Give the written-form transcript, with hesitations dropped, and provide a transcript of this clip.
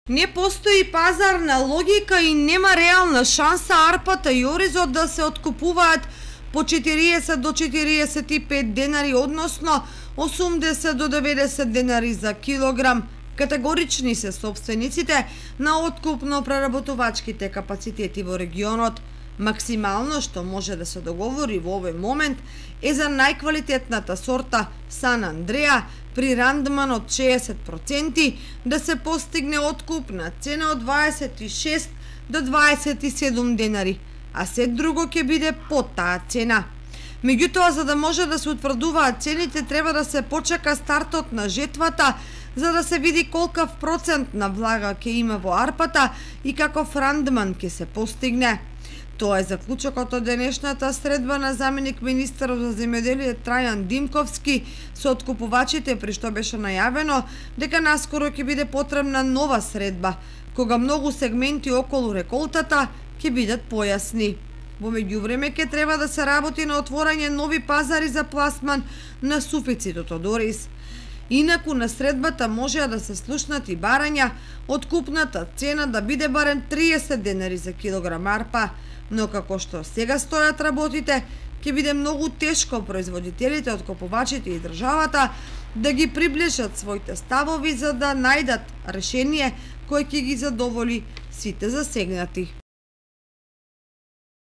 Не постои пазарна логика и нема реална шанса арпата и оризот да се откупуваат по 40 до 45 денари, односно 80 до 90 денари за килограм. Категорични се собствениците на откупно-преработувачките капацитети во регионот. Максимално што може да се договори во овој момент е за најквалитетната сорта Сан Андреа при рандман од 60% да се постигне откупна цена од 26 до 27 денари, а се друго ќе биде под таа цена. Меѓутоа, за да може да се утврдуваат цените, треба да се почека стартот на жетвата, за да се види колкав процент на влага ќе има во арпата и каков рандман ќе се постигне. Тоа е заклучокот од денешната средба на заменик министерот за земјоделие Трајан Димковски со откупувачите, при што беше најавено дека наскоро ќе биде потребна нова средба, кога многу сегменти околу реколтата ќе бидат појасни. Во меѓувреме ќе треба да се работи на отворање нови пазари за пласман на суфицитот од ориз. Инаку на средбата можеа да се слушнат и барања откупната цена да биде барем 30 денари за килограм арпа, но како што сега стојат работите, ќе биде многу тешко производителите, откупувачите и државата да ги приближат своите ставови за да најдат решение кој ќе ги задоволи сите засегнати.